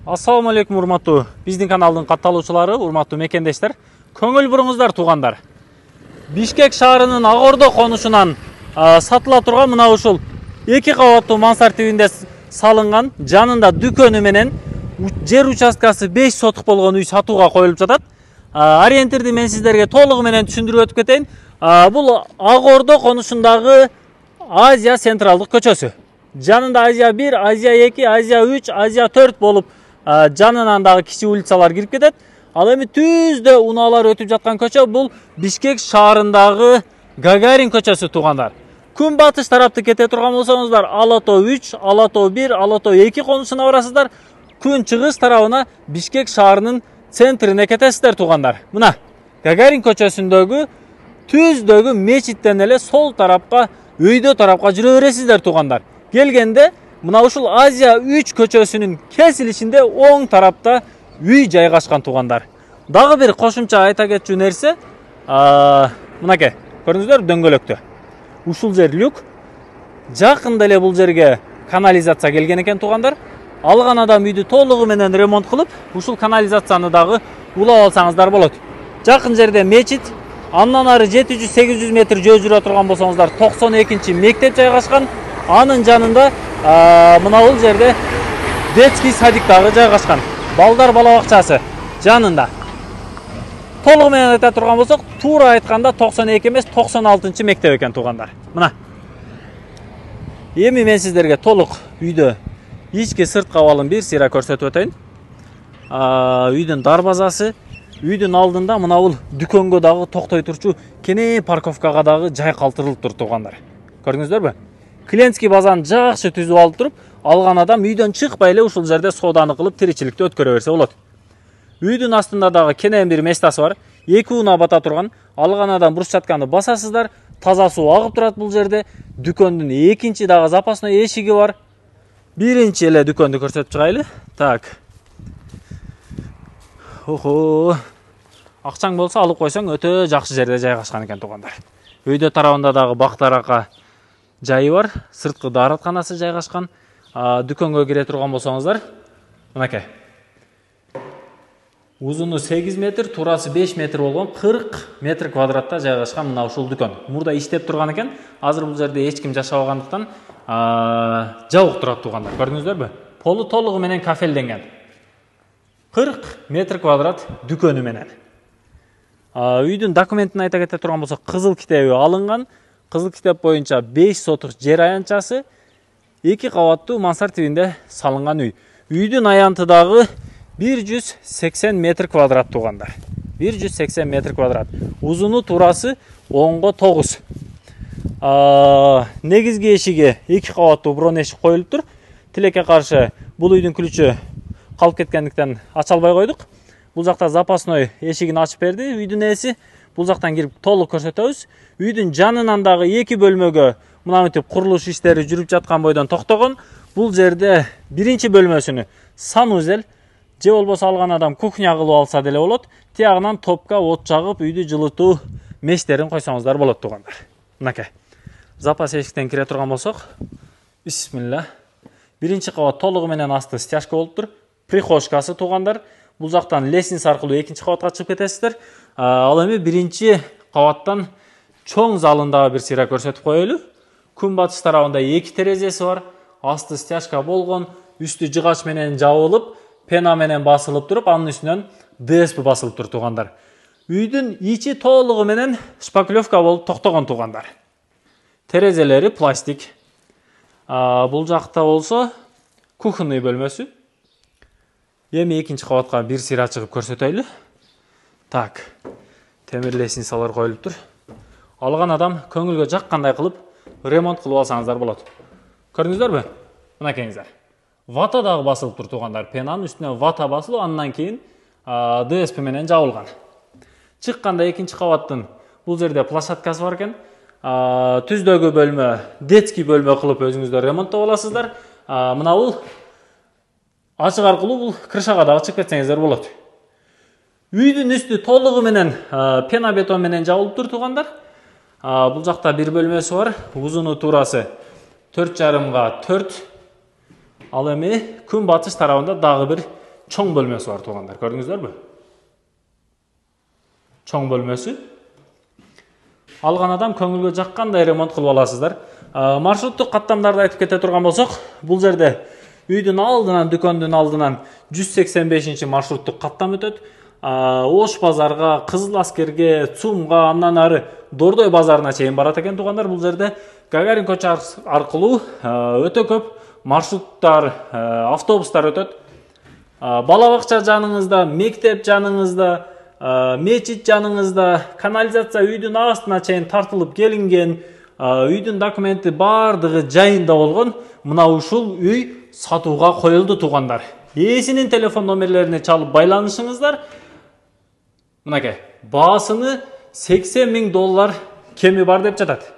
Ассаламу алейкум урматтуу биздин каналдын катталуучулары, урматтуу мекендештер. Көңүл буруңуздар туугандар. Бишкек шаарынын Ак Ордо конушунан сатыла турган мына ушул 2 кабаттуу мансард үйүндө салынган, жанында дүкөнү менен жер участкасы 5 сотук болгон үй сатууга коюлуп жатат. Ориентирди мен сиздерге толугу менен түшүндүрүп өтүп кетейин. Бул Ак Ордо конушундагы Азия централдык көчөсү. Жанында Азия 1, Азия 2, Азия 3, Азия 4 болуп жанынан дагы кичи улицалар кирип кетет. Ал эми түздө унаалар өтүп жаткан көчө бул Бишкек шаарындагы Гагарин көчөсү туугандар. Күн батыш тарапты кете турган болсоңуздар, Ала Тоо 3, Ала Тоо 1, Ала Тоо 2 конушуна барасыздар. Күн чыгыш тарабына Бишкек шаарынын центрине кетесиздер туугандар. Мына Гагарин көчөсүндөгү түздөгү мечиттен эле сол тарапка, өйдө тарапка жүрө бересиздер туугандар. Келгенде мына ушул Азия 3 көчөсүнүн кесилишинде оң тарапта үй жайгашкан туугандар. Дагы бир кошумча айта кетчү нерсе, мынакей, көрдүңүздөр дөңгөлөктө. Ушул жер люк. Жакында эле бул жерге канализация келген экен туугандар. Алган адам үйдү толугу менен ремонт кылып, ушул канализацияны дагы улап алсаңыздар болот. Жакын жерде мечит, андан ары 700-800 метр жөө жүрө турган болсоңуздар 92-чи мектеп жайгашкан. Анын жанында мына бул жерде детский садик дагы жайгашкан. Балдар бала бакчасы жанында. Толугу менен айта турган болсок, туура айтканда 92 эмес 96-чы мектеп экен туугандар. Мына. Эми мен сиздерге толук үйдө ички сырт кабалын бир сыйра көрсөтүп өтөйүн. Үйдүн дарбазасы, үйдүн алдында мына бул дүкөнгө дагы токтой турчу кене парковкага дагы жай калтырылып тур туугандар. Көрдүңүздөрбү? Клиентский базаны жакшы түзүп алып туруп, алган адам үйдөн чыкпай эле ушул жерде сооданы кылып тиричиликти өткөрө берсе болот. Үйдүн астында дагы кенен бир местасы бар. 2 уна бата турган. Алган адам брусчатканы басасыздар, таза суу агып турат бул жерде. Дүкөндүн экинчи дагы запасной эшиги бар. Биринчи эле дүкөндү көрсөтүп чыгайлы. Так. Охо. Акчаң болсо алып койсоң өтө жакшы жерде жайгашкан экен туугандар. Үйдө тарабында дагы бактарака жайы бар, сырткы дааратканасы жайгашкан. Дүкөнгө кире турган болсоңуздар, мынакей. Узуну 8 метр, турасы 5 метр болгон 40 метр квадратта жайгашкан мына ушул дүкөн. Мурда иштеп турган экен. Азыр бул жерде эч ким жашабагандыктан жабык турат туугандар. Көрдүңүздөрбү? Полу толугу менен кафелденген. 40 метр квадрат дүкөнү менен. Үйдүн документин айта кете турган болсок, кызыл китеби алынган. Кызыл китеп боюнча 5 сотук жер аянтчасы, 2 кабаттуу мансард тибинде салынган үй. Үйдүн аянты дагы 180 метр квадрат туугандар. 180 метр квадрат. Узуну турасы 10го 9. Негизги эшиги 2 кабаттуу брон эшик коюлуп тур. Тилекке каршы бул үйдүн ключү калып кеткендиктен ача албай койдук. Бул жакта запасной эшигин ачып берди үйдүн ээси. Бул жактан кирип толук көрсөтөбүз. Үйдүн жанынан дагы 2 бөлмөгө мынантип курулуш иштери жүрүп жаткан бойдон токтогон. Бул жерде биринчи бөлмөсүнү санузел же болбосо алган адам кухня кылып алса деле болот. Тиягынан топка от жагып, үйдү жылытуу мештерин койсоңуздар болот туугандар. Мынакей. Запас эшиктен кире турган болсок, бисмилла. Биринчи кабат толугу менен асты стяжка болуп тур. Прихожкасы туугандар. Бул жактан лестница аркылуу экинчи кабатка чыгып кетесиздер. Ал эми биринчи кабаттан чоң залындагы бир сыйра көрсөтүп коелу. Күн батыш тарабында 2 терезеси бар. Асты стяжка болгон, үстү жыгач менен жабылып, пена менен басылып туруп, анын үстүнөн ДСП басылып тур туугандар. Үйдүн ичи толугу менен шпаклевка болуп токтогон туугандар. Терезелери пластик. Бул жакта болсо кухонный бөлмөсү. Эми экинчи кабатка бир сыйра чыгып көрсөтөйлү. Так. Темир лестницалар коюлуп тур. Алган адам көңүлгө жаккандай кылып ремонт кылып алсаңыздар болот. Көрдүңүздөрбү? Мынакейиңиздер. Вата дагы басылып тур туугандар. Пенанын үстүнө вата басылып, андан кийин ДСП менен жабылган. Чыкканда экинчи кабаттын бул жерде площадкасы бар экен. Түздөгү бөлмө, детский бөлмө кылып өзүңүздөр ремонттоп аласыздар. Мына бул ачык аркылуу бул крышага дагы чыгып кетсеңиздер болот. Үйдүн үстү толугу менен пена бетон менен жабылып тур туугандар. Бул жакта бир бөлмөсү бар. Узуну турасы 4,5 га 4. Ал эми күн батыш тарабында дагы бир чоң бөлмөсү бар туугандар. Көрдүңүздөрбү? Чоң бөлмөсү. Алган адам көңүлгө жаккандай ремонт кылып аласыздар. Маршруттук каттамдарды айтып кете турган болсок, бул жерде үйдүн алдынан, дүкөндүн алдынан 185 маршруттук каттам өтөт. Ош базарга, Кызыл Аскерге, ЦУМга, андан ары Дордой базарына чейин барат экен туугандар. Бул жерде Гагарин көчө аркылуу өтө көп маршруттар, автобустар өтөт. Бала бакча жаныңызда, мектеп жаныңызда, мечит жаныңызда, канализация үйдүн астына чейин тартылып келинген, үйдүн документи бардыгы жайында болгон мына ушул үй сатууга коюлду туугандар. Ээсинин телефон номерлерине чалып байланышыңыздар. Мынакей, баасыны $80,000 кеми бар деп жатат.